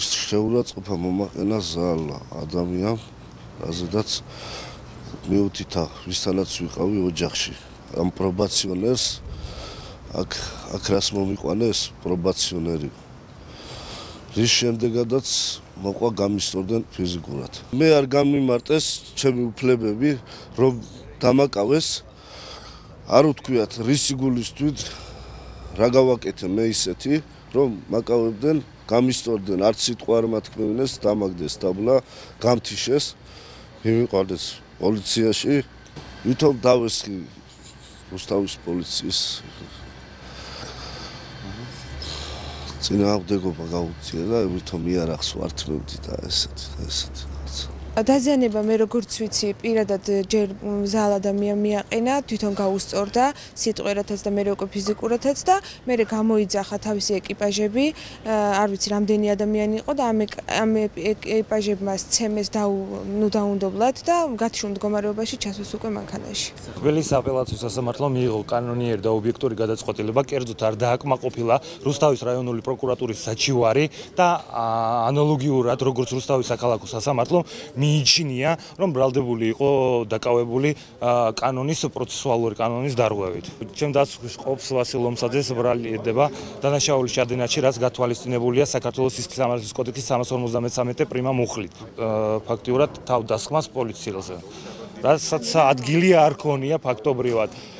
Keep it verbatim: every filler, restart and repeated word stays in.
შეურაცხყოფა მომაყენა ზალა ადამიან, რაზედაც მიუთითა ვისთანაც ვიყავი ოჯახში. Am პრობაციონერს აქ აქ რას მომიყვანეს პრობაციონერი. რის შემდეგაც მოყვა გამისტორდნენ ფიზიკურად. მე არ გამიმარტეს ჩემი უფლებები, რომ დამაკავეს, არ უთქვიათ რისი გულისთვით, რა გავაკეთე მე ისეთი, რომ მაკავებდნენ, გამისტორდნენ, არც სიტყვა არ მათქმევინეს, დამაგდეს დაბლა, გამთიშეს, მივიყვანეს პოლიციაში, ვითომ დავესხი რუსთავის პოლიციის წინააღმდეგობა გაუწია და ვითომ იარაღს ვართმევდი და ესეთი და ესეთი. დაზიანება მე როგორც ვიცი, პირადად ჯერ ზაალ ადამიან მიაყენა, თვითონ გაუსწორდა სიტყვერათაც და მერე უკვე ფიზიკურათაც და მერე გამოიძახა თავისი ეკიპაჟები, არ ვიცი რამდენი ადამიანი იყო და ამ ამ ეკიპაჟებმა სცემეს ნუ დაუნდობლად და გათიშულ მდგომარეობაში ჩასვეს უკვე მანქანაში. თბილისის აპელაციო სასამართლომ მიიღო კანონიერი და ობიექტური გადაწყვეტილება, კერძოდ არ დააკმაყოფილა რუსთავის რაიონული პროკურატურის საჩივარი და ანალოგიურად როგორც რუსთავის საქალაქო სასამართლომ მიიჩნია, რომ ბრალდებული იყო დაკავებული კანონის პროცესუალური კანონის დარღვევით. ჩემ დასაწყისში ყოფს ვასილ ლომსაძეს ბრალდება დანაშაულის ჩადენაში, რაც გათვალისწინებულია საქართველოს სისხლის სამართლის კოდექსის სამას ორმოცდამეცამეტე პრიმა მუხლით. ფაქტიურად თავდასხმას პოლიციელზე. რასაც ადგილი არ ქონია ფაქტობრივად.